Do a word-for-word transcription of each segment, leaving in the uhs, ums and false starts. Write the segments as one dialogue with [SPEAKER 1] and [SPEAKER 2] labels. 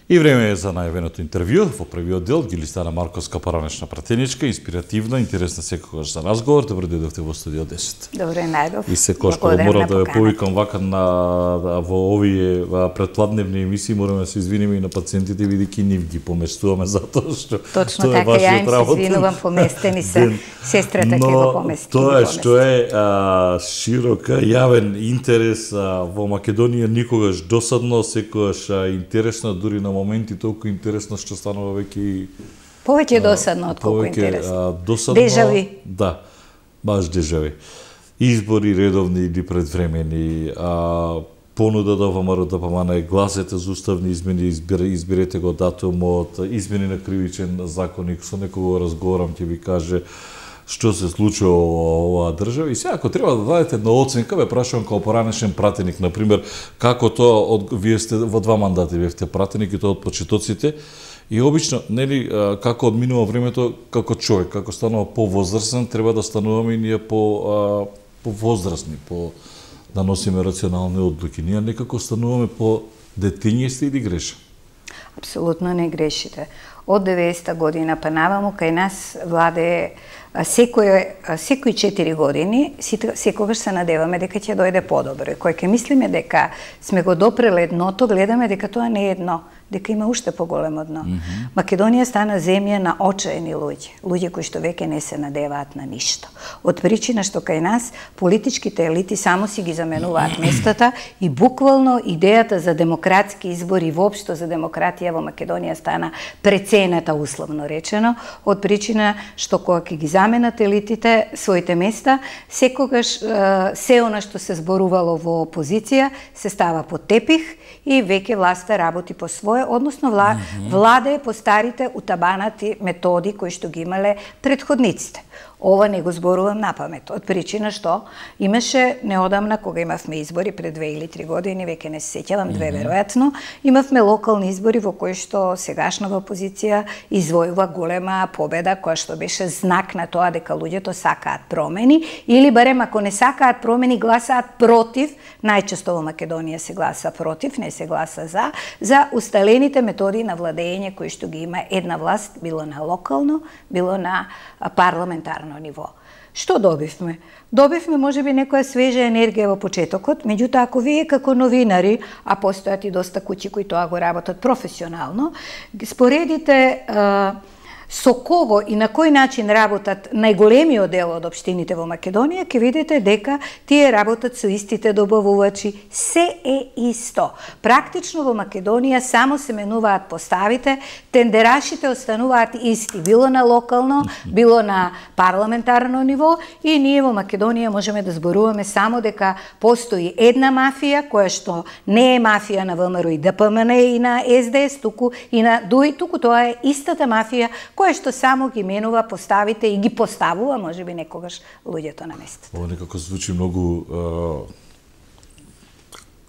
[SPEAKER 1] И време е за најавеното интервју. Во првиот дел ги листана Марковска паранешна пратеничка, инспиративна, интересна секогаш за разговор. Добро дојдовте во студио десет.
[SPEAKER 2] Добре најдов.
[SPEAKER 1] И секогаш кога морам да ве повикам вака на во овие предпладневни емисии, мораме да се извиниме и на пациентите, бидејќи нив ги поместуваме затоа што
[SPEAKER 2] точно така ја им се извинувам, поместени се. Сестрата ќе го помести.
[SPEAKER 1] Тоа што е а, широка јавен интерес а, во Македонија никогаш досадно, секогаш а, интересно, дури на моменти толку интересно што станува веќе и
[SPEAKER 2] повеќе досадно од колку интересно.
[SPEAKER 1] Досадно,
[SPEAKER 2] дежави.
[SPEAKER 1] Да, баш дежави. Избори редовни или предвремени, а, понуда да ВМРО да помане, гласете за уставни измени, избере, изберете го датумот, измени на кривичен законник, со некого разговарам ќе ви каже што се случува во оваа држава. И сега, ако треба да дадете една оценка, ве прашувам као поранешен пратеник, например, како тоа, од, вие сте во два мандати бевте пратеник и тоа од почетоците, и обично, нели, како одминува времето, како човек, како станува повозрасен, треба да стануваме и ние по, повозрасни, по, да носиме рационални одлуки. Ние некако стануваме по детиња сте или греша?
[SPEAKER 2] Апсолутно не грешите. Од деветдесета година па наваму кај нас владе секој секои четири години, секогаш се надеваме дека ќе дојде подобро. И кој ќе мислиме дека сме го допреле дното, гледаме дека тоа не е дно, дека има уште поголемо дно. Mm -hmm. Македонија стана земја на очаени луѓе, луѓе кои што веќе не се надеваат на ништо. Од причина што кај нас политичките елити само си ги заменуваат местата и буквално идејата за демократски избори, воопшто за демократија во Македонија стана прецената, условно речено, од причина што кога ќе ги заменат елитите своите места, секогаш се она што се зборувало во опозиција се става под тепих и веќе власта работи по своје, односно вла, mm -hmm. владе по старите утабанати методи кои што ги имале предходниците. Ова не го зборувам на памет, од причина што имаше неодамна, кога имавме избори пред две или три години, веќе не се сеќавам, две веројатно, имавме локални избори во кои што сегашната опозиција извојува голема победа, која што беше знак на тоа дека луѓето сакаат промени, или барем ако не сакаат промени, гласаат против, најчесто во Македонија се гласа против, не се гласа за, за усталените методи на владење кои што ги има една власт, било на локално, било на парламентарно ниво. Што добивме? Добивме можеби некоја свежа енергија во почетокот, меѓутоа ако вие како новинари, а постојат и доста куќи кои тоа го работат професионално, споредите а, со кого и на кој начин работат најголемиот дел од општините во Македонија, ќе видите дека тие работат со истите добавувачи, се е исто. Практично во Македонија само се менуваат поставите, тендерашите остануваат исти, било на локално, било на парламентарно ниво, и ние во Македонија можеме да зборуваме само дека постои една мафија, која што не е мафија на ВМРО и ДПМН и на СДС, туку и на ДУИ, туку тоа е истата мафија која што само ги менува поставите и ги поставува, можеби некогаш, луѓето на местото.
[SPEAKER 1] Ова некако звучи многу...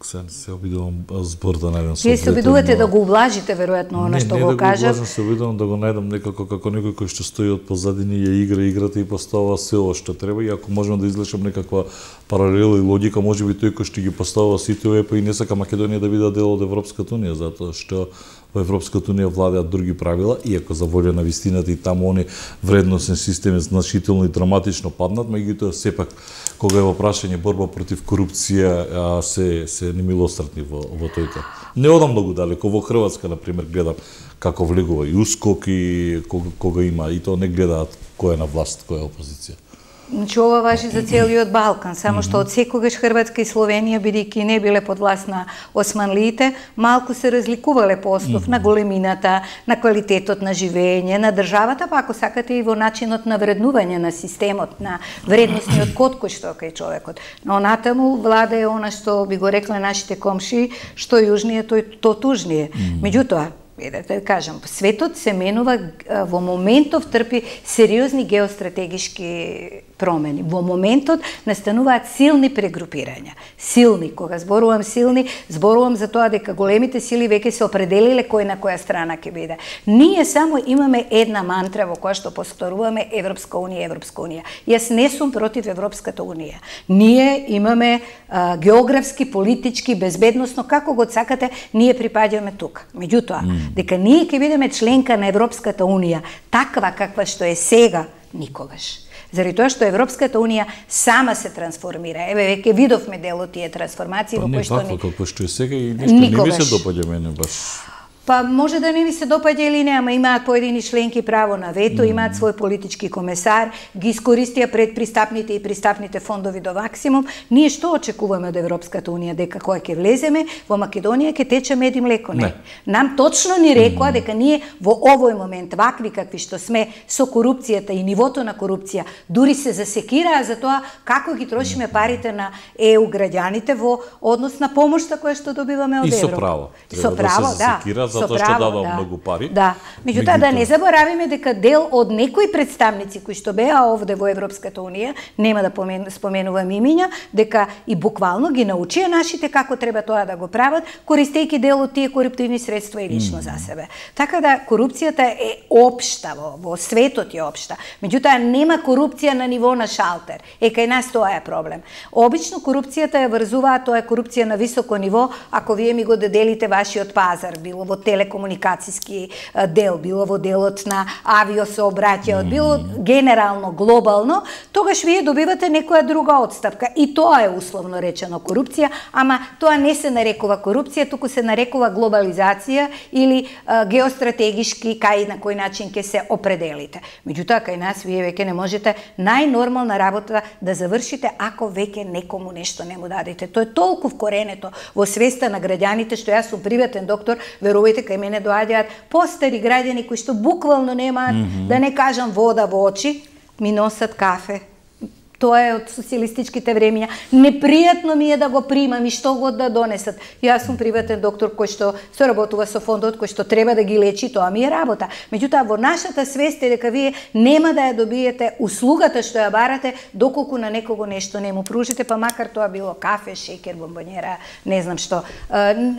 [SPEAKER 1] Се, се обидувам збор да најдам со.
[SPEAKER 2] Вие се обидувате да го ублажите, веројатно, она што го кажа.
[SPEAKER 1] Не, не да го ублажам, се обидувам да го најдам некако како некој кој што стои од позадини, ја игра играта и поставува се ова што треба, и ако можам да излечам некаква паралела и логика, можеби тој кој што ги поставува сите овие, па и не сака Македонија да биде дел од Европската унија, затоа што во Европската унија владеат други правила, иако за волја на вистината и таму они вредносен систем е значително и драматично паднат, меѓутоа сепак кога е во прашање борба против корупција, се се немилострдни во во тојто. Не одам многу далеко, во Хрватска на пример гледам како влегува и УСКОК и кога, кога има, и тоа не гледаат кој е на власт, кој е опозиција.
[SPEAKER 2] Значи, ова важи за целиот Балкан, само што од секогаш Хрватска и Словенија, бидејќи не биле под власт на османлиите, малку се разликувале по основ на големината, на квалитетот на живење, на државата, па ако сакате и во начинот на вреднување на системот, на вредносниот код кој што е кај човекот. Но натаму влада е она што би го рекле нашите комши, што јужнije, тој то тужнije. Меѓутоа, да кажам, светот се менува, во моментов трпи сериозни геостратегишки промени. Во моментот настануваат силни прегрупирања. Силни, кога зборувам силни, зборувам за тоа дека големите сили веќе се определиле кој на која страна ќе биде. Ние само имаме една мантра во која што повторуваме Европска унија, Европска унија. Јас не сум против Европската унија. Ние имаме а, географски, политички, безбедносно, како го сакате, ние припаѓаме тука. Меѓутоа, mm. дека ние ќе бидеме членка на Европската унија, таква каква што е сега, никогаш. Заради тоа што Европската унија сама се трансформира. Еве веќе видовме дел од тие трансформации во кои што
[SPEAKER 1] не како што е сега и нешто не ми се допаѓа мене баш.
[SPEAKER 2] Па може да не ви се допаѓа или не, ама имаат поедини членки право на вето, mm. имаат свој политички комесар, ги искористија пред пристапните и пристапните фондови до максимум. Ние што очекуваме од Европската унија, дека кога ќе влеземе во Македонија ќе тече мед и млеко? Не. не. Нам точно ни рекоа mm. дека ние во овој момент, вакви какви што сме со корупцијата и нивото на корупција, дури се засекираа за тоа како ги трошиме парите на Е У граѓаните во однос на помошта која што добиваме од Европа.
[SPEAKER 1] И со право.
[SPEAKER 2] Со право, да.
[SPEAKER 1] Затоа што дадам да. многу пари.
[SPEAKER 2] Да. Меѓутоа да не заборавиме дека дел од некои представници кои што беа овде во Европската унија, нема да споменувам имиња, дека и буквално ги научија нашите како треба тоа да го прават, користејќи дел од тие коруптивни средства и лично mm. за себе. Така да корупцијата е општа во, во светот е општа. Меѓутоа нема корупција на ниво на шалтер. Е кај нас тоа е проблем. Обично корупцијата ја врзуваат, тоа е корупција на високо ниво, ако вие ми го доделите вашиот пазар, било во телекомуникацијски дел, било во делот на авиосообраќајот, било генерално, глобално, тогаш вие добивате некоја друга отстапка. И тоа е условно речено корупција, ама тоа не се нарекува корупција, туку се нарекува глобализација или а, геостратегишки кај на кој начин ќе се определите. Меѓутоа, кај нас вие веќе не можете најнормална работа да завршите ако веќе некому нешто не му дадете. Тоа е толку вкоренето во свеста на граѓаните што јас сум приватен доктор, верувајте, кај мене доаѓаат постари граѓани кои што буквално немаат, mm -hmm. да не кажам вода во очи, ми носат кафе. Тоа е од социјалистичките времиња. Непријатно ми е да го примам и што го да донесат. Јас сум приватен доктор кој што соработува со фондот, кој што треба да ги лечи, тоа ми е работа. Меѓутоа, во нашата свест е дека вие нема да ја добиете услугата што ја барате, доколку на некого нешто не му пружите, па макар тоа било кафе, шеќер, бомбонјера, не знам што.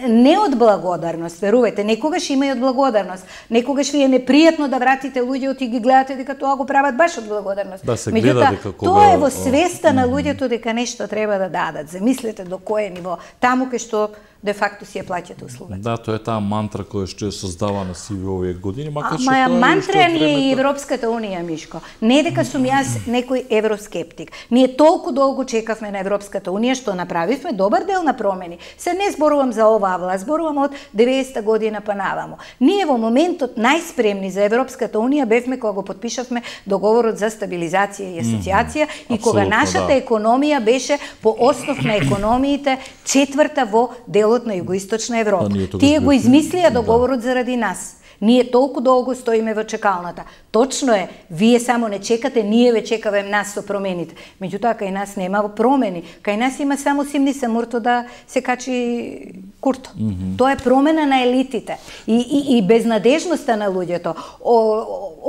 [SPEAKER 2] Не од благодарност, верувајте, некогаш има и од благодарност. Некогаш ви е непријатно да вратите луѓето и ги гледате дека тоа го прават баш од благодарност.
[SPEAKER 1] Да се гледа дека кога
[SPEAKER 2] тоа е во свеста на луѓето дека нешто треба да дадат. Замислете до кое ниво. Таму кај што де факто си ја плаќате услугата.
[SPEAKER 1] Да, тоа е таа мантра која што е создавана сиве овие години, макар што
[SPEAKER 2] тоа
[SPEAKER 1] е
[SPEAKER 2] мантра ни е и Европската унија, Мишко. Не дека сум јас некој евроскептик. Ние толку долго чекавме на Европската унија што направивме добар дел на промени. Се не зборувам за оваа власт, зборувам од деветдесета година па наваму. Ние во моментот најспремни за Европската унија бевме кога го потпишавме договорот за стабилизација и асоциација mm, и кога нашата да. економија беше по основ на економиите четврта во делот на југоисточна Европа. Да, тие го измислија договорот да. заради нас. Ние толку долго стоиме во чекалната. Точно е, вие само не чекате, ние ве чекаме нас со промените. Меѓутоа, кај нас нема промени. Кај нас има само симни самурто да се качи курто. Mm -hmm. Тоа е промена на елитите. И, и, и безнадежноста на луѓето. О,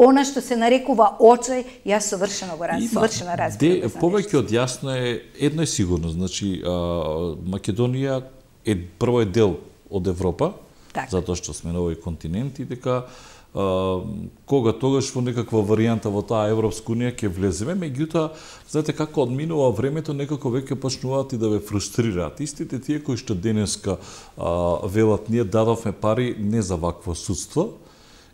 [SPEAKER 2] она што се нарекува очај, јас совршено го раз, совршено разбирам.
[SPEAKER 1] Повеќе од јасно е, едно е сигурно, значи, а, Македонија е прво е дел од Европа, так. затоа што сме на овој континент и дека а, кога тогаш во некаква варијанта во таа Европска унија ќе влеземе, меѓутоа, знаете како одминува времето, некако веќе почнуваат и да ве фрустрираат. Истите тие кои што денеска а, велат ние дадовме пари не за вакво судство,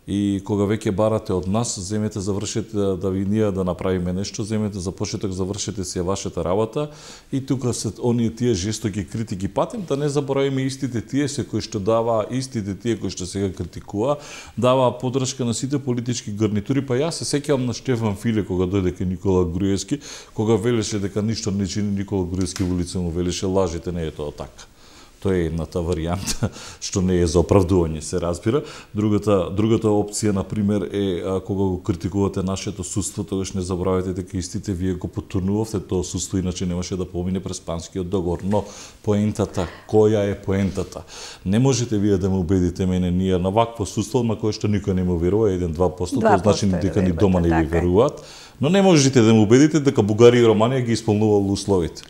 [SPEAKER 1] и кога веќе барате од нас, земете завршете да, да ви ние да направиме нешто, земете за почеток завршете си вашата работа и тука се оние тие жестоки критики патим, да не заборавиме истите тие се кои што дава, истите тие кои што сега критикува, дава подршка на сите политички гарнитури, па јас се сеќавам на Штефан Филе кога дојде кај Никола Груевски, кога велеше дека ништо не чини Никола Груевски во лице му велеше лажите, не е тоа така. Тоа е едната варијанта, што не е за оправдување, се разбира. Другата, другата опција, например, е а, кога го критикувате нашето судство, тогаш не забравяйте дека истите вие го потурнувавте тоа судство, иначе немаше да помине през Панскиот договор. Но поентата, која е поентата? Не можете вие да ме убедите мене, ние на вакво судство, на кое што никој не му верува, еден-два посто, тоа значи дека ни дома не ви веруваат, но не можете да ме убедите дека Бугарија и Романија ги исполнувале условите.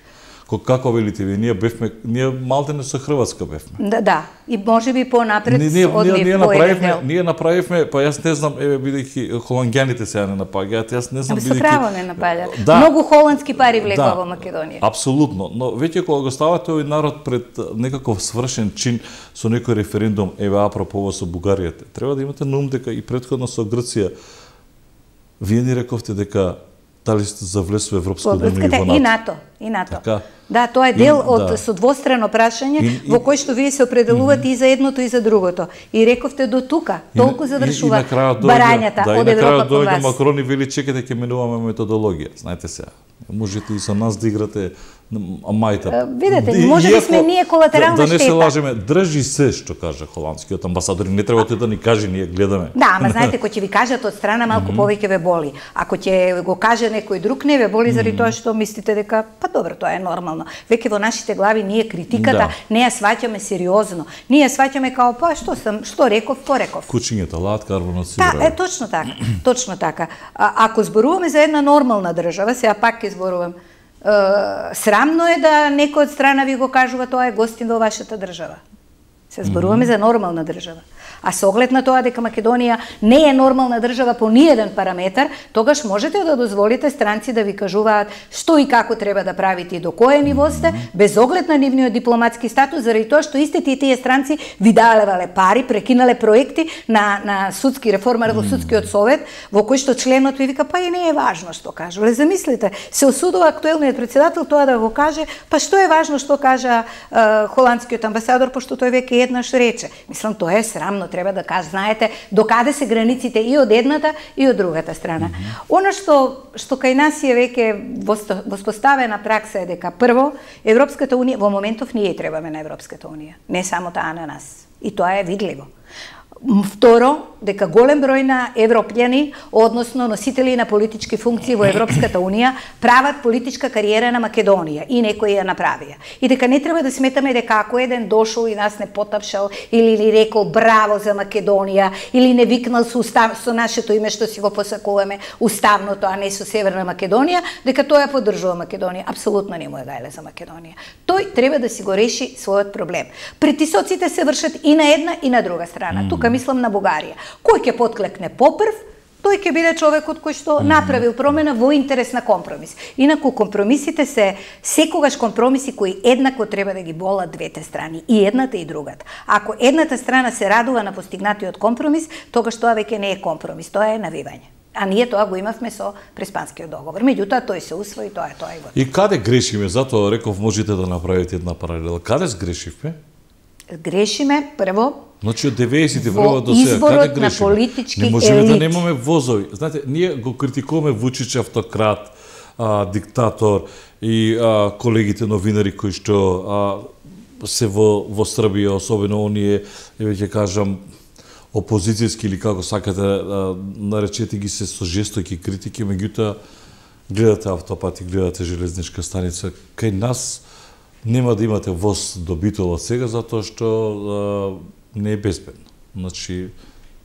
[SPEAKER 1] Како велите ви, ние бевме, ние малтене со Хрватска бевме.
[SPEAKER 2] Да, да, и можеби понапред
[SPEAKER 1] ние, ние,
[SPEAKER 2] од
[SPEAKER 1] ние, ние
[SPEAKER 2] по еден дел.
[SPEAKER 1] Ние направивме, па јас не знам, еве бидејќи холанѓаните сега не напаѓаат, јас не знам
[SPEAKER 2] бидејќи. Со право не напаѓаат.
[SPEAKER 1] Да,
[SPEAKER 2] многу холандски пари влекува
[SPEAKER 1] да,
[SPEAKER 2] во Македонија.
[SPEAKER 1] Апсолутно, но веќе кога го ставате овој народ пред некаков свршен чин со некој референдум, еве апропо со Бугаријата, треба да имате на ум дека и претходно со Грција вие ни рековте дека дали сте за влез во Европско
[SPEAKER 2] Унија и во НАТО. И НАТО.
[SPEAKER 1] Така.
[SPEAKER 2] Да, тоа е дел
[SPEAKER 1] и,
[SPEAKER 2] од
[SPEAKER 1] да.
[SPEAKER 2] со двостранно прашање
[SPEAKER 1] и,
[SPEAKER 2] во кој што вие се определувате mm -hmm. и за едното и за другото. И рековте до тука, толку задршува барањата
[SPEAKER 1] да,
[SPEAKER 2] од Европа кон вас.
[SPEAKER 1] Да, и Макрон и вели чекате ќе менуваме методологија. Знаете сега, можете и со нас да играте мајта.
[SPEAKER 2] Видете, може би сме ние колатерална
[SPEAKER 1] штета. Да не се
[SPEAKER 2] штета.
[SPEAKER 1] лажеме, држи се што каже холандскиот амбасадор, не треба да ни каже, ние гледаме.
[SPEAKER 2] Да, ама знаете, кој ќе ви кажат од страна малку повеќе ве боли. Ако ќе го каже некој друг, не ве боли заради тоа што мислите дека па добро, тоа е нормално. Веќе во нашите глави ние критиката
[SPEAKER 1] да.
[SPEAKER 2] не ја сваќаме сериозно. Ние ја сваќаме као па што сам, што реков, пореков.
[SPEAKER 1] Кучињата лаат, карбонот си
[SPEAKER 2] Да, е точно така. Точно така. А, ако зборуваме за една нормална држава, сега пак ќе зборувам, е, срамно е да некој од страна ви го кажува тоа е гостин во вашата држава. Се зборуваме mm -hmm. за нормална држава. А со оглед на тоа дека Македонија не е нормална држава по ниеден параметар, тогаш можете да дозволите странци да ви кажуваат што и како треба да правите и до кое ниво сте, без оглед на нивниот дипломатски статус, заради тоа што истите и тие странци ви давале пари, прекинале проекти на, на судски реформа во судскиот совет, во кој што членот ви вика, па и не е важно што кажува. Замислите, се осудува актуелниот председател тоа да го каже, па што е важно што кажа е, холандскиот амбасадор, пошто тој веќе еднаш рече. Мислам, тоа е срамно, треба да кажа, знаете, докаде се границите и од едната и од другата страна. Mm -hmm. Она што што кај нас е веќе воспоставена пракса е дека прво Европската унија во моментов ние требаме на Европската унија, не само таа на нас. И тоа е видливо. Второ, дека голем број на европјани, односно носители на политички функции во Европската унија, прават политичка кариера на Македонија и некои ја направија. И дека не треба да сметаме дека ако еден дошол и нас не потапшал или ни рекол браво за Македонија или не викнал со, устав, со нашето име што си го посакуваме уставното, а не со Северна Македонија, дека тоа ја поддржува Македонија. Апсолутно не му е гајле за Македонија. Тој треба да си го реши својот проблем. Притисоците се вршат и на една и на друга страна. Mm. Тука мислам на Бугарија. Кој ќе подклекне попрв, тој ќе биде човекот кој што направил промена во интерес на компромис. Инаку компромисите се секогаш компромиси кои еднакво треба да ги болат двете страни, и едната и другата. Ако едната страна се радува на постигнатиот компромис, тогаш тоа веќе не е компромис, тоа е навивање. А ние тоа го имавме со Преспанскиот договор. Меѓутоа тој се усвои, тоа е тоа и готово.
[SPEAKER 1] И каде грешиме? Затоа реков можете да направите една паралела. Каде сгрешивме?
[SPEAKER 2] Грешиме прво.
[SPEAKER 1] Значи од деветдесетите време до сега каде грешиме?
[SPEAKER 2] На политички
[SPEAKER 1] не можеме
[SPEAKER 2] елит.
[SPEAKER 1] Да немаме возови. Знаете, ние го критикуваме Вучич автократ, а, диктатор и а, колегите новинари кои што а, се во во Србија, особено оние, еве ќе кажам, опозицијски или како сакате а, наречете ги се со жестоки критики, меѓутоа гледате автопати, гледате железничка станица, кај нас нема да имате воз до Битола сега затоа што а, не е безбедно. Значи,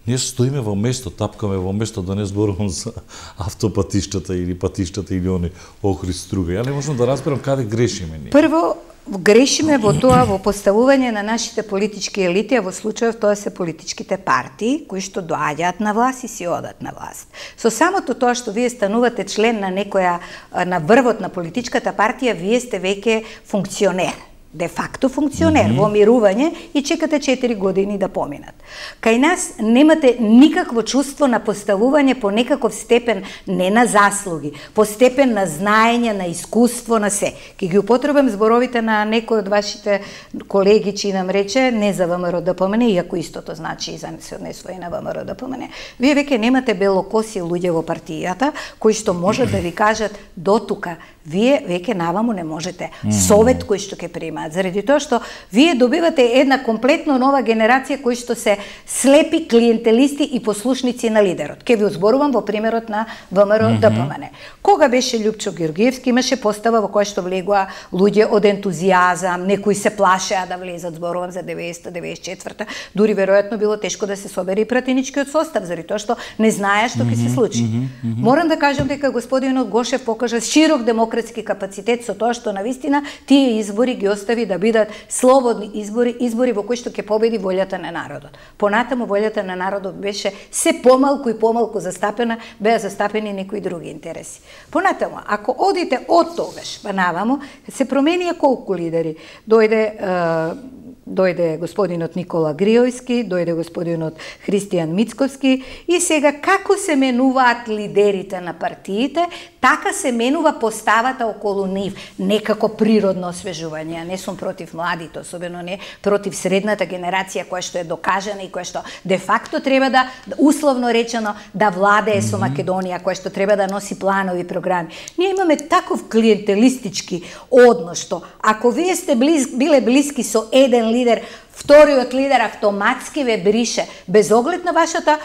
[SPEAKER 1] ние стоиме во место, тапкаме во место, да не зборувам за автопатиштата или патиштата или они Охрид Струга. Ја не можам да разберам каде грешиме ние.
[SPEAKER 2] Прво, грешиме во тоа, во поставување на нашите политички елити, а во случајов тоа се политичките партии, кои што доаѓаат на власт и си одат на власт. Со самото тоа што вие станувате член на некоја, на врвот на политичката партија, вие сте веќе функционер. Де факто функционер, mm -hmm. во мирување и чекате четири години да поминат. Кај нас немате никакво чувство на поставување по некаков степен, не на заслуги, по степен на знаење, на искуство, на се. Ке ги употребам зборовите на некој од вашите колеги, чи нам рече, не за ВМРО да помене, иако истото значи и за се однесува и на ВМРО да помене. Вие веќе немате белокоси луѓе во партијата, кои што можат да ви кажат до тука, вие веќе наваму не можете совет кој што ќе примаат, заради тоа што вие добивате една комплетно нова генерација кои што се слепи клиентелисти и послушници на лидерот. Ке ви озборувам во примерот на ВМРО Д П М Н. Кога беше Љупчо Георгиевски, имаше постава во која што влегоа луѓе од ентузијазам, некои се плашеа да влезат, зборувам за деветдесета деветдесет и четврта, дури веројатно било тешко да се собере и пратеничкиот состав, заради тоа што не знаеа што ќе се случи. Морам да кажам дека господинот Гошев покажа широк демократски капацитет со тоа што навистина тие избори ги остави да бидат слободни избори, избори во кои што ќе победи волјата на народот. Понатаму волјата на народот беше се помалку и помалку застапена, беа застапени некои други интереси. Понатаму, ако одите од тогаш па наваму, се променија колку лидери. Дојде е, дојде господинот Никола Гриојски, дојде господинот Христијан Мицковски и сега како се менуваат лидерите на партиите, така се менува поставата околу нив, некако природно освежување. Не сум против младите, особено не против средната генерација која што е докажана и која што де факто треба да, условно речено, да владее со Македонија, која што треба да носи планови програми. Ние имаме таков клиентелистички однос што ако вие сте близ, биле блиски со еден лидер, вториот лидер автоматски ве брише, без оглед на вашата,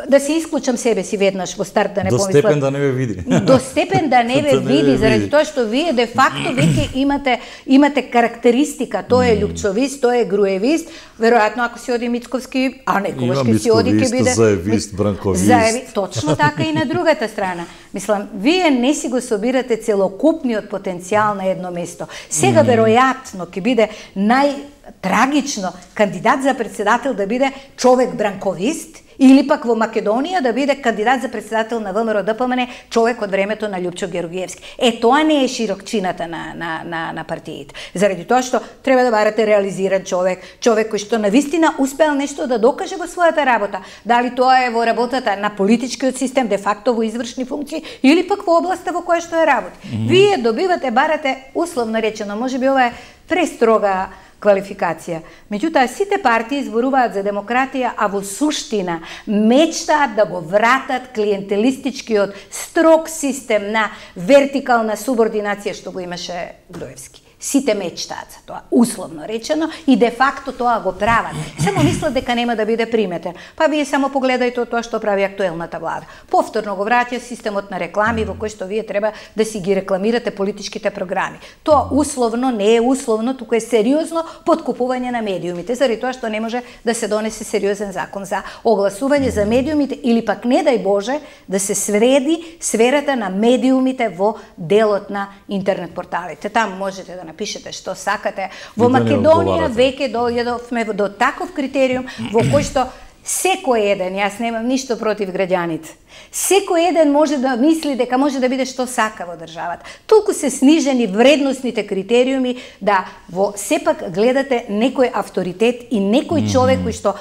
[SPEAKER 2] да се исклучам себе си веднаш во старт, да не помислам.
[SPEAKER 1] До степен да не ве види.
[SPEAKER 2] До степен да не ве види, заради тоа што вие де факто веќе имате имате карактеристика, тоа е љупчовист, тоа е груевист, веројатно ако си оди Мицковски, а некогаш ќе си оди ќе биде
[SPEAKER 1] заевист, бранковист.
[SPEAKER 2] Заеви, точно така и на другата страна. Мислам, вие не си го собирате целокупниот потенцијал на едно место. Сега веројатно ќе биде нај трагично кандидат за председател да биде човек бранковист или пак во Македонија да биде кандидат за председател на ВМРО Д П М Н човек од времето на Љупчо Георгиевски. Е, тоа не е широкчината на, на, на, на партиите. Заради тоа што треба да барате реализиран човек, човек кој што навистина успеал нешто да докаже во својата работа. Дали тоа е во работата на политичкиот систем, де факто во извршни функции, или пак во областа во која што е работа. Mm -hmm. Вие добивате, барате, условно речено, можеби ова е престрога квалификација. Меѓутоа, сите партии зборуваат за демократија, а во суштина мечтаат да го вратат клиентелистичкиот строг систем на вертикална субординација што го имаше Груевски. Сите мечтаат за тоа, условно речено, и де факто тоа го прават. Само мислат дека нема да биде приметен. Па вие само погледајте тоа што прави актуелната влада. Повторно го враќа системот на реклами во кој што вие треба да си ги рекламирате политичките програми. Тоа условно не е условно, туку е сериозно подкупување на медиумите, заради тоа што не може да се донесе сериозен закон за огласување за медиумите или пак не дај Боже да се свреди сферата на медиумите во делот на интернет порталите. Таму можете да напишете што сакате. Во Македонија веќе дојдовме до таков критериум во кој што секој еден, јас немам ништо против граѓаните, секој еден може да мисли дека може да биде што сака во државата. Толку се снижени вредносните критериуми да во сепак гледате некој авторитет и некој човек кој што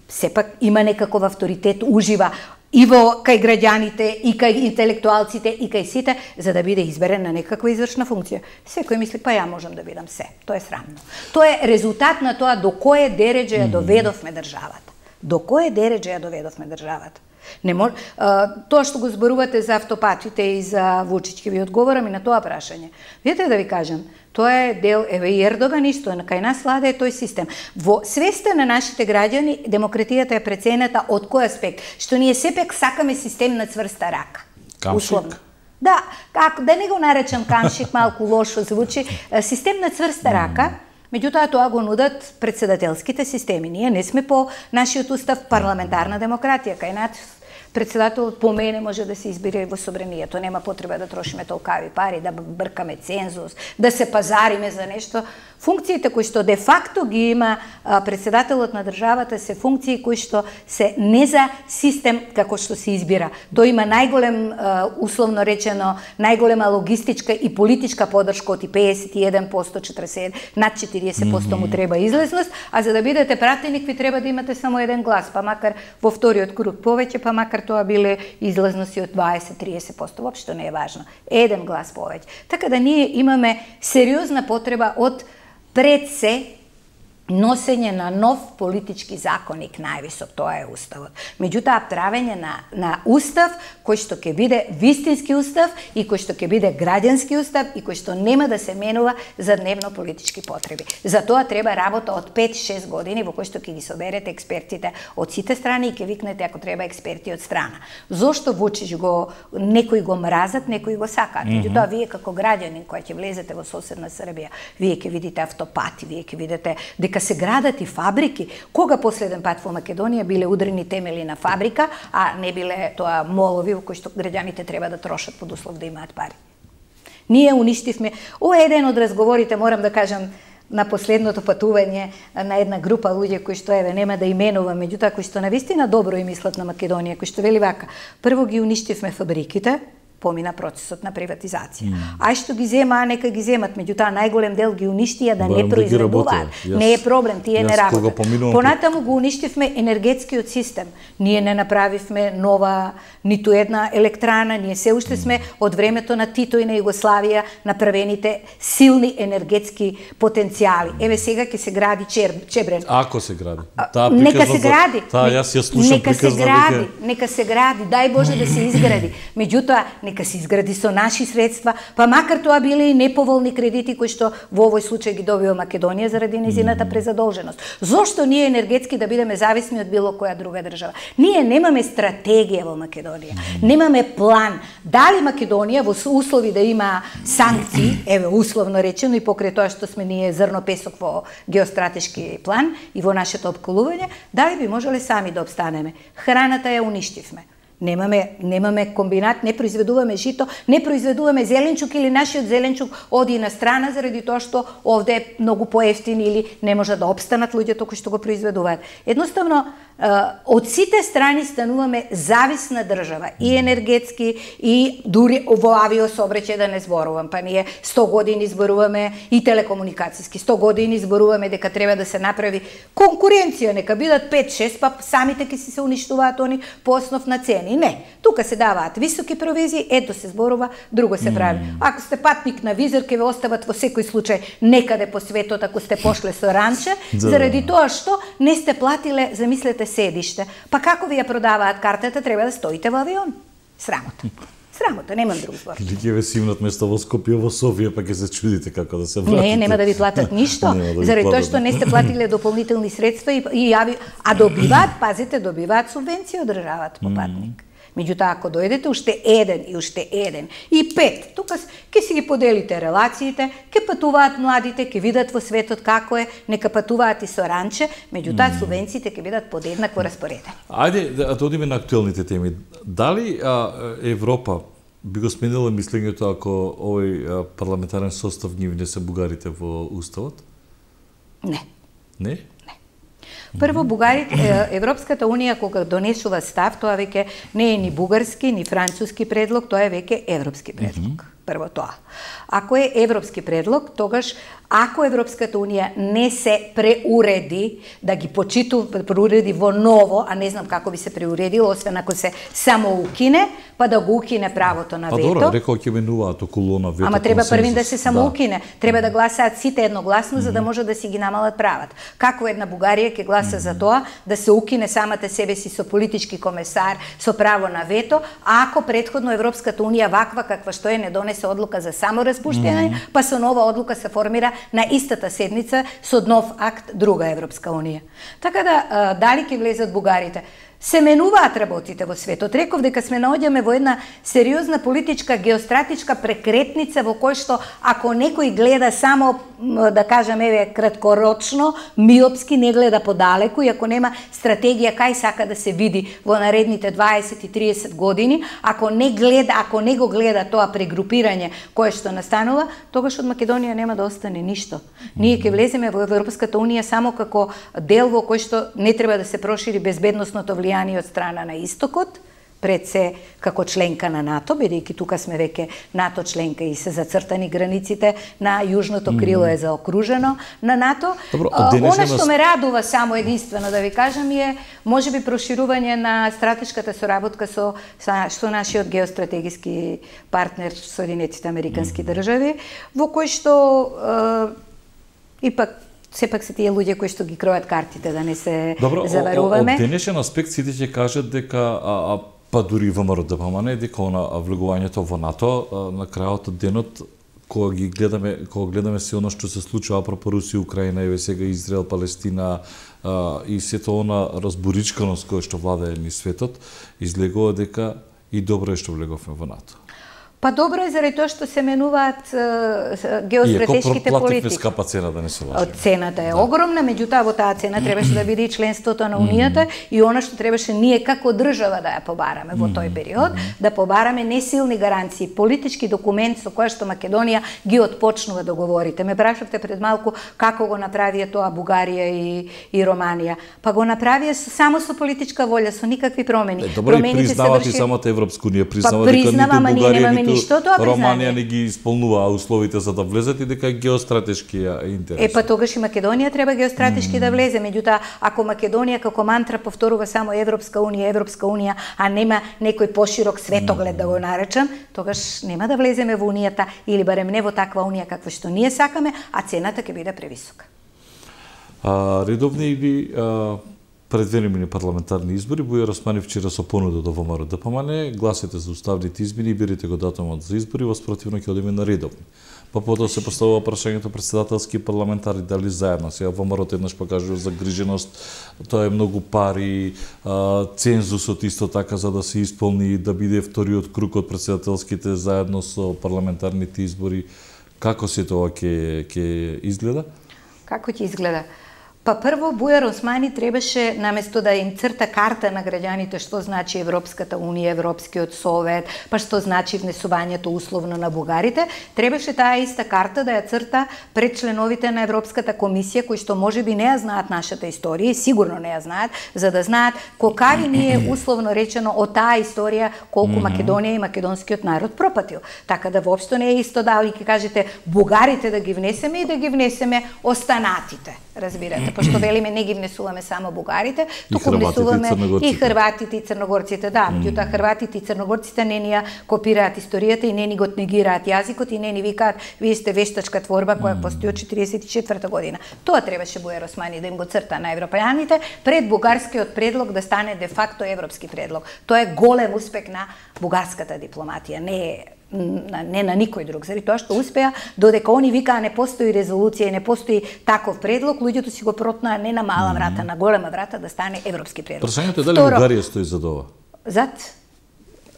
[SPEAKER 2] сепак има некаков авторитет, ужива и во кај граѓаните, и кај интелектуалците, и кај сите, за да биде изберен на некаква извршна функција. Секој мисли, па ја можам да бидам се. Тоа е срамно. Тоа е резултат на тоа до кое дереđe ја доведовме државата. До кое дереđe ја доведовме државата. Не мож... а, тоа што го зборувате за автопатите и за Вучиќ, ќе ви одговорам и на тоа прашање. Видете да ви кажам, тоа е дел, еве и Ердоган исто, кај нас влада е тој систем. Во свеста на нашите граѓани, демократијата е преценета од кој аспект? Што ние сепак сакаме систем на цврста рака.
[SPEAKER 1] Камшик?
[SPEAKER 2] Да, како, да не го наречам камшик, малку лошо звучи, систем на цврста рака. Меѓутоа, тоа го нудат председателските системи. Ние не сме по нашиот устав парламентарна демократија. Кај нас председателот по мене може да се избере во собранието. Нема потреба да трошиме толкави пари, да бркаме цензус, да се пазариме за нешто. Функциите кои што де факто ги има председателот на државата се функции кои што се не за систем како што се избира. Тој има најголем, условно речено, најголема логистичка и политичка подршка од педесет и еден проценти, четиридесет и еден, над четириесет проценти му треба излезност, а за да бидете пратеник ви треба да имате само еден глас, па макар во вториот круг повеќе, па макар тоа биле излезности од дваесет до триесет проценти, воопшто не е важно. Еден глас повеќе. Така да ние имаме сериозна потреба од пред се носење на нов политички законик највисок, тоа е уставот. Меѓутоа, правење на, на устав кој што ќе биде вистински устав и кој што ќе биде граѓански устав и кој што нема да се менува за дневно политички потреби. За тоа треба работа од пет-шест години во кој што ќе ги соберете експертите од сите страни и ќе викнете ако треба експерти од страна. Зошто Вучич го некои го мразат, некои го сакаат. Меѓутоа, вие како граѓанин кој ќе влезете во соседна Србија, вие ќе видите автопати, вие ќе видите дека се градат и фабрики. Кога последен пат во Македонија биле удрени темели на фабрика, а не биле тоа молови во кои што граѓаните треба да трошат под услов да имаат пари. Ние уништивме. Ова е еден од разговорите, морам да кажам, на последното патување на една група луѓе кои што еве нема да именувам, меѓутоа кои што навистина добро и мислат на Македонија, кои што вели вака: прво ги уништивме фабриките, помина процесот на приватизација. Mm. Ај што ги зема, нека ги земат, меѓутоа најголем дел ги уништија да не произведуваат. Да не е проблем, тие не работат. Понатаму го уништивме енергетскиот систем. Ние не направивме нова ниту една електрана, ние се уште сме од времето на Тито и на Југославија направените силни енергетски потенцијали. Еве сега ќе се гради Чер, Чебрен.
[SPEAKER 1] Ако се гради.
[SPEAKER 2] Таа нека се гради.
[SPEAKER 1] Таа јас ја слушам
[SPEAKER 2] нека се гради, нека се гради, дај Боже да се изгради. Меѓутоа нека се изгради со наши средства, па макар тоа биле и неповолни кредити кои што во овој случај ги добива Македонија заради незината презадолженост. Зошто ние енергетски да бидеме зависни од било која друга држава? Ние немаме стратегија во Македонија, немаме план. Дали Македонија во услови да има санкции, еве условно речено и покрај тоа што сме ние зрно песок во геостратешки план и во нашето опколување, дали би можеле сами да обстанеме? Храната ја уништивме. Немаме, немаме комбинат, не произведуваме жито, не произведуваме зеленчук или нашиот зеленчук оди на страна заради тоа што овде е многу поевтин или не може да обстанат луѓето кои што го произведуваат. Едноставно, од сите страни стануваме зависна држава, и енергетски, и дури во авиособраќај да не зборувам. Па ние сто години зборуваме и телекомуникацијски, сто години зборуваме дека треба да се направи конкуренција, нека бидат пет-шест, па самите ќе си се уништуваат они по основ на цени. Не, тука се даваат високи провизии, ето се зборува, друго се прави. Ако сте патник на визор, ќе ве остават во секој случај некаде по светот ако сте пошле со ранче, заради тоа што не сте платиле, замислете, седиште. Па како ви ја продаваат картата, треба да стоите во авион. Срамота. Срамота, немам друг збор.
[SPEAKER 1] Или ќе ве симнат место во Скопје, во Софија, па ќе се чудите како да се вратите.
[SPEAKER 2] Не, нема да ви платат ништо, да заради тоа што не сте платиле дополнителни средства и, и ави... а добиваат, пазите, добиваат субвенција од државата по патник. Меѓутоа, ако дојдете уште еден и уште еден и пет, тука ќе си ги поделите релациите, ќе патуваат младите, ќе видат во светот како е, нека патуваат и со ранче, меѓутоа субвенциите ќе бидат подеднакво распоредени.
[SPEAKER 1] Ајде да одиме на актуелните теми. Дали а, Европа би го сменила мислењето ако овој а, парламентарен состав ги внесе бугарите во уставот?
[SPEAKER 2] Не.
[SPEAKER 1] Не?
[SPEAKER 2] Прво, бугарите, Европската унија кога донесува став, тоа веќе не е ни бугарски, ни француски предлог, тоа е веќе европски предлог. Прво тоа. Ако е европски предлог, тогаш ако Европската унија не се преуреди, да ги почиту, преуреди во ново, а не знам како би се преуредило, освен ако се само укине, па да го укине правото на вето.
[SPEAKER 1] Па добро, рекол ќе менуваат околу на вето.
[SPEAKER 2] Ама треба првин да се само укине. Треба да гласаат сите едногласно, mm -hmm. за да може да си ги намалат правата. Како една Бугарија ќе гласа mm -hmm. за тоа да се укине самата себе си со политички комесар, со право на вето, ако претходно Европската унија ваква каква што е не донесе одлука за само распуштање, mm -hmm. па со нова одлука се формира на истата седница со нов акт друга Европска унија. Така да, дали ќе влезат бугарите? Се менуваат работите во светот. Реков дека сме наоѓаме во една сериозна политичка, геостратичка прекретница во кој што ако некој гледа само, да кажам, еве, краткорочно, миопски, не гледа подалеку и ако нема стратегија кај сака да се види во наредните дваесет и триесет години, ако не гледа, ако не го гледа тоа прегрупирање кое што настанува, тогаш од Македонија нема да остане ништо. Ние ќе влеземе во Европската унија само како дел во кој што не треба да се прошири безбедносното влијание од страна на истокот, пред се како членка на НАТО, бидејќи тука сме веќе НАТО членка и се зацртани границите на јужното крило е заокружено на НАТО.
[SPEAKER 1] Добро,
[SPEAKER 2] она што ме радува само единствено да ви кажам е можеби проширување на стратешката соработка со со нашиот геостратегиски партнер Соединетите Американски држави, во кој што е, ипак сепак се тие луѓе кои што ги кројат картите, да не се
[SPEAKER 1] Добро,
[SPEAKER 2] заваруваме.
[SPEAKER 1] Од денешен аспект сите ќе кажат дека а, а, па дури ВМРО д П М Н дека она влегувањето во НАТО а, на крајот од денот кога ги гледаме, кога гледаме се оно што се случува апропо Русија, Украина, еве сега Израел, Палестина а, и сето она разборичканост која што владее низ светот, излегува дека и добро е што влеговме во НАТО.
[SPEAKER 2] Па добро е заради тоа што се менуваат геостратешките
[SPEAKER 1] политики.
[SPEAKER 2] политики.
[SPEAKER 1] Скапа цена, да не се лажеме.
[SPEAKER 2] Цената е
[SPEAKER 1] да.
[SPEAKER 2] огромна, меѓутоа во таа цена требаше да биде и членството на Унијата и она што требаше ние како држава да ја побараме во тој период, да побараме несилни гаранции, политички документ со кој што Македонија ги отпочнува договорите. Ме прашавте пред малку како го направија тоа Бугарија и, и Романија. Па го направија само со политичка волја, со никакви промени.
[SPEAKER 1] Е, добро, и признават и самата Европска Унија, признава па, дека ниту Бугарија,
[SPEAKER 2] ништо тоа
[SPEAKER 1] Романија не ги исполнува условите за да влезат и дека е геостратешки интерес.
[SPEAKER 2] Е, па тогаш и Македонија треба геостратешки mm. да влезе, меѓутоа ако Македонија како мантра повторува само Европска Унија, Европска Унија, а нема некој поширок светоглед mm. да го наречам, тогаш нема да влеземе во Унијата или барем не во таква Унија каква што ние сакаме, а цената ќе биде превисока.
[SPEAKER 1] А, редовни или а, предвремени парламентарни избори, Бујар Османи вчера со понуда до ВМРО д П М Н, гласете за уставните измени и берете го датумот за избори, воспротивно ќе одиме на редовни. Па потоа се поставува прашањето претседателски и парламентари дали заедно. Сега ВМРО еднаш покажува загриженост, тоа е многу пари, а, цензусот исто така за да се исполни, да биде вториот круг од претседателските заедно со парламентарните избори. Како се тоа ќе ќе изгледа?
[SPEAKER 2] Како ќе изгледа? Па прво, Бујар Османи требаше, наместо да им црта карта на граѓаните што значи Европската Унија, Европскиот Совет, па што значи внесувањето условно на бугарите, требаше таа иста карта да ја црта пред членовите на Европската комисија, кои што можеби не ја знаат нашата историја, сигурно не ја знаат, за да знаат колкави ние условно речено од таа историја колку mm -hmm. Македонија и македонскиот народ пропатил. Така да воопшто не е исто дали ќе кажете бугарите да ги внесеме и да ги внесеме останатите. Разбирате, пошто велиме не ги внесуваме само бугарите, туку внесуваме и хрватите и црногорците, да, меѓутоа mm. хрватите и црногорците не ни ја копираат историјата и не ни го негираат јазикот и не ни викаат вие сте вештачка творба која mm. постои од четиридесет и четврта година. Тоа требаше Бујар Османи да им го црта на европејаните пред бугарскиот предлог да стане де факто европски предлог. Тоа е голем успех на бугарската дипломатија, не е не на никој друг, заради тоа што успеа, додека они викаа не постои резолуција и не постои таков предлог, луѓето си го протнаа не на мала врата, на голема врата да стане европски предлог.
[SPEAKER 1] Прашањето е дали Бугарија стои за ова?
[SPEAKER 2] Зад?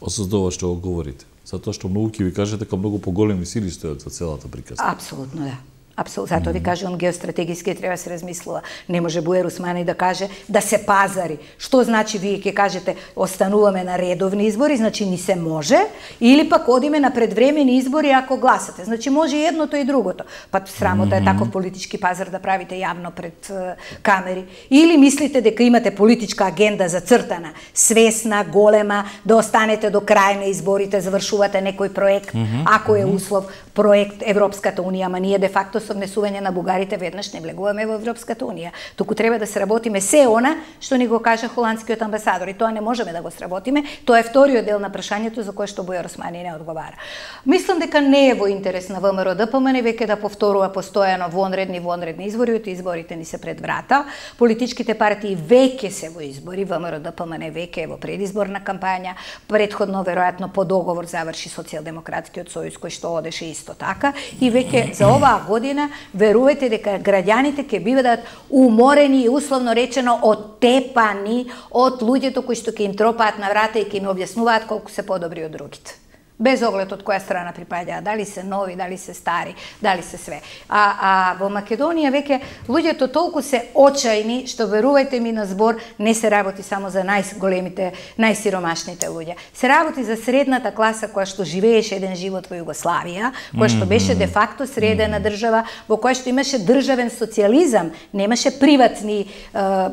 [SPEAKER 1] За ова што го говорите. Затоа што многу ќе ви кажете дека многу поголеми сили стојат за целата приказна.
[SPEAKER 2] Апсолутно да. Апсолутно, затоа ви кажувам геостратегиски треба да се размислува. Не може Бујар Османи да каже да се пазари. Што значи вие ќе кажете остануваме на редовни избори, значи ни се може, или пак одиме на предвремени избори ако гласате. Значи може и едното и другото. Па срамота е таков политички пазар да правите јавно пред uh, камери. Или мислите дека имате политичка агенда зацртана, свесна, голема, да останете до крај на изборите, завршувате некој проект, ако е услов проект Европската Унија, ама ние де факто со внесување на бугарите веднаш не влегуваме во Европската Унија. Туку треба да сработиме се она што ни го кажа холандскиот амбасадор и тоа не можеме да го сработиме. Тоа е вториот дел на прашањето за кое што Бујар Османи не одговара. Мислам дека не е во интерес на ВМРО д П М Н веќе да повторува постојано вонредни вонредни избори, од изборите ни се пред врата. Политичките партии веќе се во избори, ВМРО д П М Н веќе е во предизборна кампања, претходно веројатно по договор заврши Социјалдемократскиот сојуз кој што одеше исто така и веќе за оваа година верувајте дека граѓаните ќе бидат уморени и условно речено оттепани од луѓето кои што ќе им тропаат на врата и ќе им објаснуваат колку се подобри од другите. Без оглед од која страна припаѓаат, дали се нови, дали се стари, дали се све. А, а во Македонија веќе луѓето толку се очајни што верувајте ми на збор не се работи само за најголемите, најсиромашните луѓе. Се работи за средната класа која што живееше еден живот во Југославија, која што беше де факто средена држава, во која што имаше државен социјализам, немаше приватни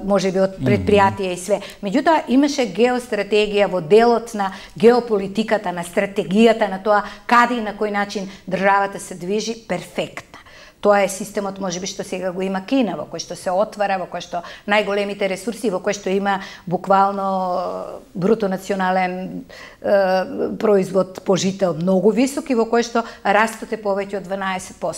[SPEAKER 2] можеби од предпријатија и све. Меѓутоа имаше геостратегија во делот на геополитиката, на стратегија на тоа каде и на кој начин државата се движи перфектна. Тоа е системот можеби што сега го има Кина, во кој што се отвара, во кој што најголемите ресурси, во кој што има буквално бруто национален е, производ по жител многу висок и во кој што растот е повеќе од дванаесет проценти.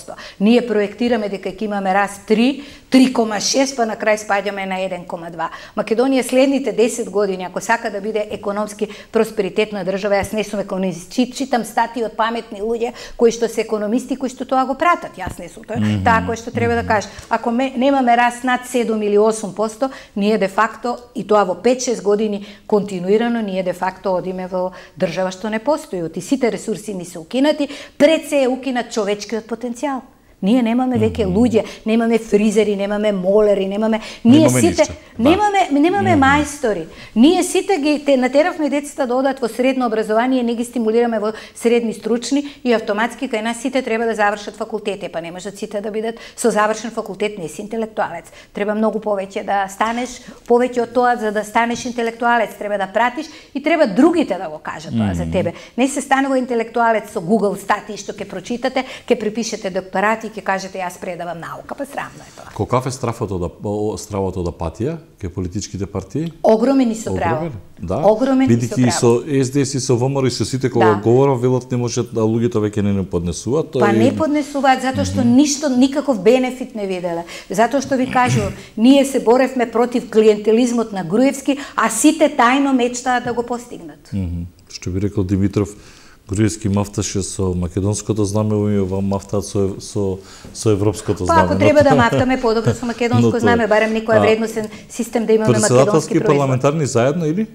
[SPEAKER 2] Ние проектираме дека ќе имаме раст три, три кома шест, па на крај спаѓаме на еден кома два. Македонија следните десет години, ако сака да биде економски просперитетна држава, јас не сум економист, читам статии од паметни луѓе кои што се економисти, кои што тоа го пратат. Јас не сум тоа. Mm -hmm. Таа кој што треба да кажеш. Ако ме, немаме раст над седум или осум проценти, ние де факто, и тоа во пет-шест години континуирано, ние де факто одиме во држава што не постои. И сите ресурси ни се укинати, пред се е укинат човечкиот потенцијал. Ние немаме веќе луѓе, немаме фризери, немаме молери, немаме ние
[SPEAKER 1] немаме
[SPEAKER 2] сите
[SPEAKER 1] ништо,
[SPEAKER 2] немаме
[SPEAKER 1] да.
[SPEAKER 2] немаме мајстори. Ние сите ги те натеравме децата да одат во средно образование, не ги стимулираме во средни стручни и автоматски кај нас сите треба да завршат факултети, па не можат сите да бидат со завршен факултет, не си интелектуалец. Треба многу повеќе да станеш, повеќе од тоа за да станеш интелектуалец, треба да пратиш и треба другите да го кажат тоа mm -hmm. за тебе. Не се станува интелектуалец со Google статии што ќе прочитате, ќе препишете докторати, ќе кажете јас предавам наука, па срамно е тоа.
[SPEAKER 1] Колкав е стравото да стравото да патија кај политичките партии?
[SPEAKER 2] Огромен и со право.
[SPEAKER 1] Да.
[SPEAKER 2] Огромен и со право.
[SPEAKER 1] Бидејќи со Ес Де Ес и со Во Ем Ер и со сите кога да. говорат, велат не можат да луѓето веќе не не поднесуваат.
[SPEAKER 2] Па не поднесуваат затоа што mm -hmm. ништо никаков бенефит не виделе. Затоа што ви кажувам, ние се боревме против клиентелизмот на Груевски, а сите тајно мечтаат да го постигнат.
[SPEAKER 1] Mm -hmm. Што би рекол Димитров, Груевски мафташе со македонското знаме, и ова мафтаат со, со, со европското знаме.
[SPEAKER 2] Па ако треба да мафтаме подобро со македонско знаме, барем некој вредносен систем да имаме македонски производ.
[SPEAKER 1] Председателски парламентарни заедно или?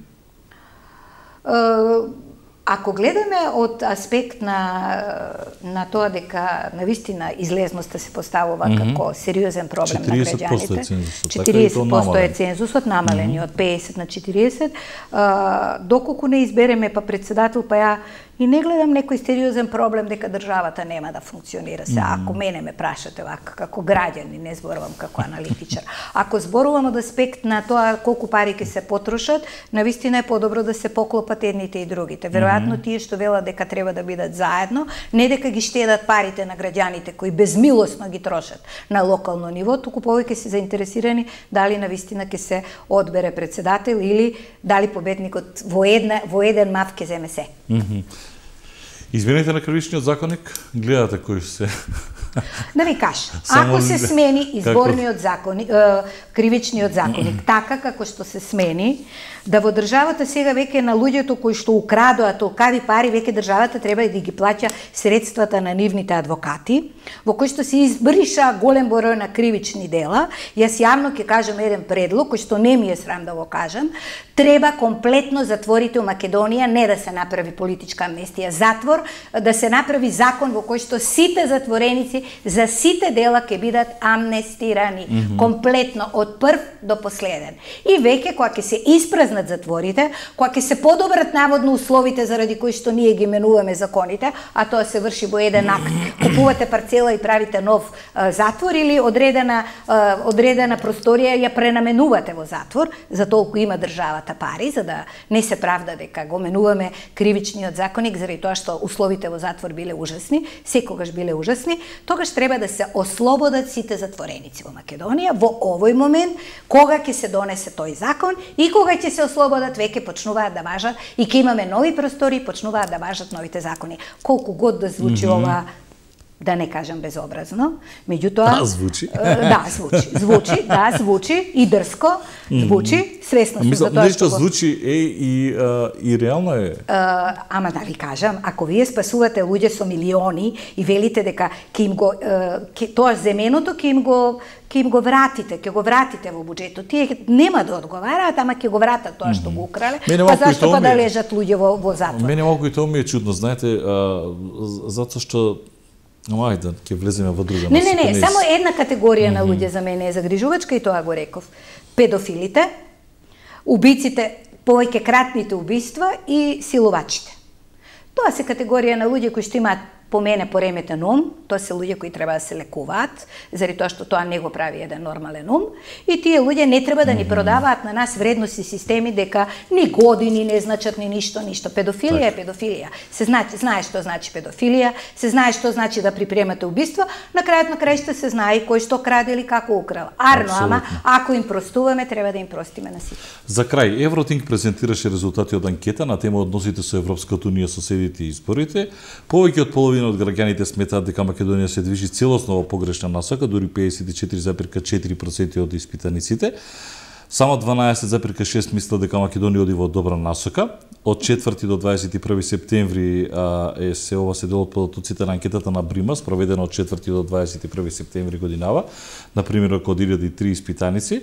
[SPEAKER 2] Ако гледаме од аспект на на тоа дека навистина излезноста се поставува mm -hmm. како сериозен проблем на граѓаните, четириесет проценти е цензусот, намален mm -hmm. од педесет на четириесет, а, доколку не избереме па председател, па ја и не гледам некој сериозен проблем дека државата нема да функционира. Се, mm -hmm. ако мене ме прашате вака, како граѓани, не зборувам како аналитичар. Ако зборувам од аспект на тоа колку пари ќе се потрошат, навистина е подобро да се поклопат едните и другите. Веројатно тие што велат дека треба да бидат заедно, не дека ги штедат парите на граѓаните кои безмилосно ги трошат на локално ниво, туку повеќе се заинтересирани дали навистина ќе се одбере председател или дали победникот во една во еден мав ќе земе се.
[SPEAKER 1] Mm -hmm. Измените на кривичниот законник, гледате кои се...
[SPEAKER 2] Да ви кажа, ако се смени изборниот законник, кривичниот законник, така како што се смени, да во државата сега веќе на луѓето кои што украдоа толкави пари, веќе државата треба да ги плаќа средствата на нивните адвокати, во кои што се избриша голем број на кривични дела. Јас јавно ќе кажам еден предлог, кој што не ми е срам да го кажам, треба комплетно затворите у Македонија, не да се направи политичка амнестија, затвор, да се направи закон во кој што сите затвореници за сите дела ќе бидат амнестирани, mm -hmm. комплетно од прв до последен. И веќе кога ќе се испразнат затворите, кога ќе се подобрат наводно условите заради кои што ние ги менуваме законите, а тоа се врши во еден акт. Купувате парцела и правите нов а, затвор или одредена а, одредена просторија ја пренаменувате во затвор, за толку има државата пари, за да не се правда дека го менуваме кривичниот законник заради тоа што условите во затвор биле ужасни, секогаш биле ужасни. Тогаш треба да се ослободат сите затвореници во Македонија во овој момент, кога ќе се донесе тој закон и кога ќе се ослободат, веќе почнуваат да важат и ќе имаме нови простори, почнуваат да важат новите закони. Колку год да звучи mm -hmm. ова, да не кажам безобразно, меѓутоа...
[SPEAKER 1] Да, звучи.
[SPEAKER 2] Да, звучи. Звучи, да, звучи и дрско, звучи, свесна сум за тоа
[SPEAKER 1] нешто звучи е и, а, и реално е.
[SPEAKER 2] А, ама да ви кажам, ако вие спасувате луѓе со милиони и велите дека ќе им го, ке, тоа земеното ќе им го ќе им го вратите, ќе го вратите во буџетот. Тие нема да одговараат, ама ќе го вратат тоа што го украле. Па зашто па да лежат луѓе во, во затвор?
[SPEAKER 1] Мене малку и тоа ми е чудно, знаете, а, затоа што Ама ајде, ќе влеземе во друга.
[SPEAKER 2] Не, не, не, само една категорија на луѓе за мене е загрижувачка и тоа го реков. Педофилите, убиците, повеќе кратните убиства и силувачите. Тоа се категорија на луѓе кои што имаат по мене пореметен ум, тоа се луѓе кои треба да се лекуваат, заради тоа што тоа не го прави еден нормален ум, и тие луѓе не треба да ни продаваат на нас вредности системи дека ни години не значат ни ништо, ништо. Педофилија е педофилија. Се знае, знае што значи педофилија, се знае што значи да припремате убиство, на крајот на краишта се знае кој што краде или како украл. Арно, ама ако им простуваме, треба да им простиме на сите.
[SPEAKER 1] За крај, Евротинг презентираше резултати од анкета на тема односите со Европската унија, соседите и изборите. Повеќе од половина од граѓаните сметаат дека Македонија се движи целосно во погрешна насока, дури педесет и четири зарез четири проценти од испитаниците. Само дванаесет зарез шест мислат дека Македонија оди во добра насока. Од четврти до дваесет и први септември а, е се ова се дел од податоците на анкетата на Брима, спроведена од четврти до дваесет и први септември годинава, на примерок од илјада и три испитаници.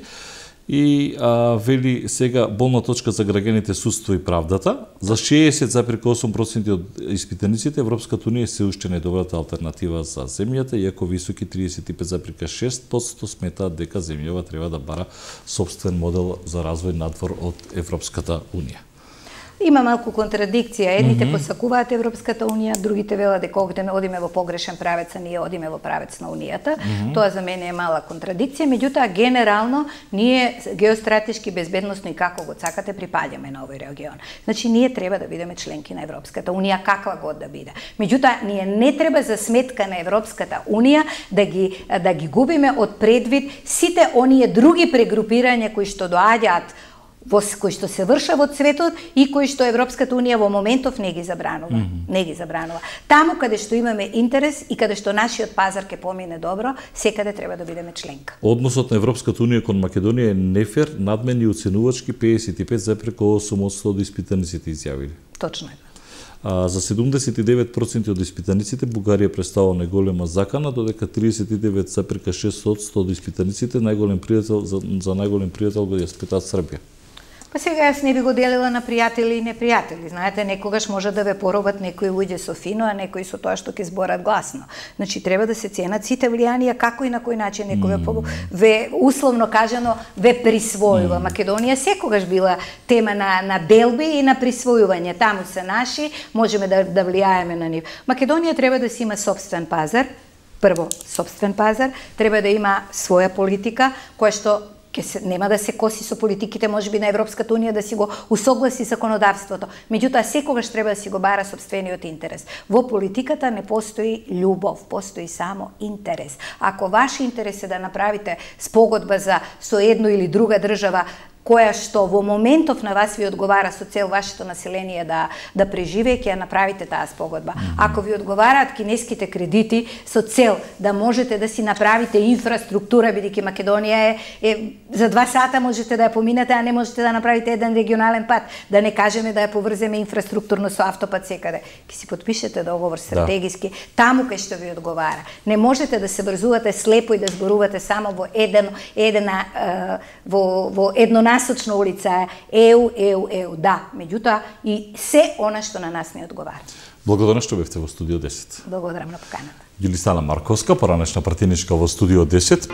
[SPEAKER 1] И а, вели сега болна точка за граѓаните судство и правдата. За шеесет зарез осум проценти од испитаниците Европската унија се уште најдобрата алтернатива за земјата, иако високи триесет и пет зарез шест проценти сметаат дека земјава треба да бара собствен модел за развој надвор од Европската унија.
[SPEAKER 2] Има малку контрадикција. Едните mm -hmm. посакуваат Европската унија, другите велат дека одиме во погрешен правец, а ние одиме во правец на унијата. Mm -hmm. Тоа за мене е мала контрадикција, меѓутоа генерално ние геостратешки, безбедносно и како го сакате припаѓаме на овој регион. Значи ние треба да бидеме членки на Европската унија каква год да биде. Меѓутоа ние не треба за сметка на Европската унија да ги да ги губиме од предвид сите оние други прегрупирања кои што доаѓаат во кои што се врша во светот и кои што Европската унија во моментов не ги забранува, mm -hmm. не ги забранува. Таму каде што имаме интерес и каде што нашиот пазар ќе помине добро, секаде треба да бидеме членка.
[SPEAKER 1] Односот на Европската унија кон Македонија е нефер, надмен и оценувачки, педесет и пет зарез осум проценти од испитаниците изјавили.
[SPEAKER 2] Точно е.
[SPEAKER 1] А, за седумдесет и девет проценти од испитаниците Бугарија представува најголема закана, додека триесет и девет зарез шест проценти од испитаниците најголем пријател за, за најголем пријател го ја сметаат Србија.
[SPEAKER 2] Па сега јас не би го делила на пријатели и непријатели. Знаете, некогаш може да ве поробат некои луѓе со фино, а некои со тоа што ќе зборат гласно. Значи треба да се ценат сите влијанија како и на кој начин некој mm. ве условно кажано ве присвојува. Mm. Македонија секогаш била тема на на делби и на присвојување. Таму се наши, можеме да да влијаеме на нив. Македонија треба да си има собствен пазар. Прво, собствен пазар, треба да има своја политика која што ке се, нема да се коси со политиките можеби на Европската унија, да си го усогласи законодавството. Меѓутоа секогаш треба да си го бара сопствениот интерес. Во политиката не постои љубов, постои само интерес. Ако ваш интерес е да направите спогодба за со едно или друга држава која што во моментов на вас ви одговара со цел вашето население да да преживее, ќе ја направите таа спогодба. Ако ви одговараат кинеските кредити со цел да можете да си направите инфраструктура, бидејќи Македонија е, е за два сата можете да ја поминете, а не можете да направите еден регионален пат, да не кажеме да ја поврземе инфраструктурно со автопат секаде. Ќе си подпишете договор стратегиски, да. Таму кај што ви одговара. Не можете да се врзувате слепо и да зборувате само во еден едена во во едно насочна улица еу, еу, еу, да, меѓутоа и се она што на нас не одговара.
[SPEAKER 1] Благодарам што бевте во студио десет.
[SPEAKER 2] Благодарам на поканата.
[SPEAKER 1] Јулисана Марковска, поранешна пратеничка во студио десет.